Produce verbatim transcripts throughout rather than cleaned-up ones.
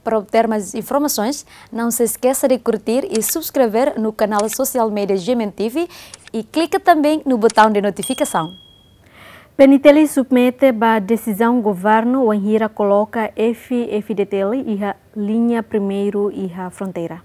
Para obter mais informações, não se esqueça de curtir e subscrever no canal social media G M N T V e clica também no botão de notificação. P N T L submete ba desizaun governu wainhira koloka F F D T L iha liña primeiru iha fronteira.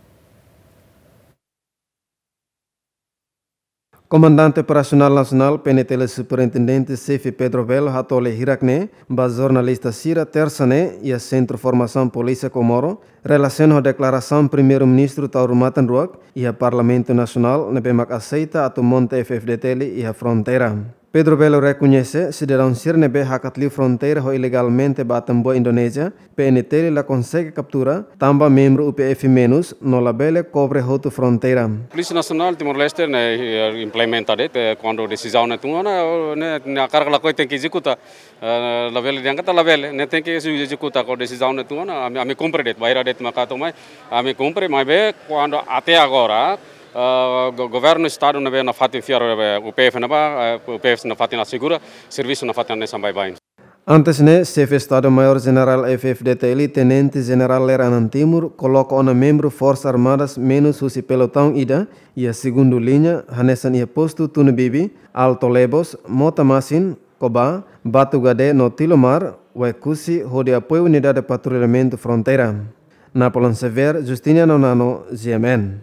Komandante Operasionál Nasionál, P N T L, Superintendente Xefe Pedro Belo hato'o lee hirak-ne'e ba jornalista sira Tersa ne'e iha Sentru Formasaun Polísia Comoro, relasiona ho deklarasaun Primeiru-Ministru tau rumatan ruak iha Parlamentu Nasionál ne'ebé mak aseita atu monta F F D T L iha fronteira. Pedro Belo rekoñese sidadaun sira ne'ebé hakat liu fronteira ho ilegalmente ba Atambua, Indonézia, P N T L la konsege kaptura, tanba membru U P F menus no labele kobre hotu fronteira. Polísia Nasionál Timor-Leste ne'e, eh, implementa de'it, eh, kuandu desizaun ne'e tun ona, ne'e, ne'e hakarak ka lakohi tenke ezekuta. Eh, labele, di'ak ka lae labele, ne'e tenke ezekuta. Kuandu desizaun ne'e tun ona, ami, ami kumpre de'it, bainhira de'it maka tun mai, ami kumpre, maibé kuandu até agora, eh, go-, governu estadu ne'ebé nafatin fiar, eh, U P F ne'ebá, eh, U P F nafatin asegura, servisu nafatin hanesan baibain. Antes ne'e, Xefe Estadu-Maiór Jenerál F F D T L, Tenente Jenerál Lere Anan Timur, koloka ona membru Forsas Armadas menus husi pelotaun ida iha segundu liña, hanesan iha postu Tunu Bibi, Alto Lebos, Mota Masin, Cobá, Batu Gadé no Tilomar, Oekusi, hodi apoiu unidade patrullamentu fronteira. Napoleon Xavier, Justiniano Nano, G M N.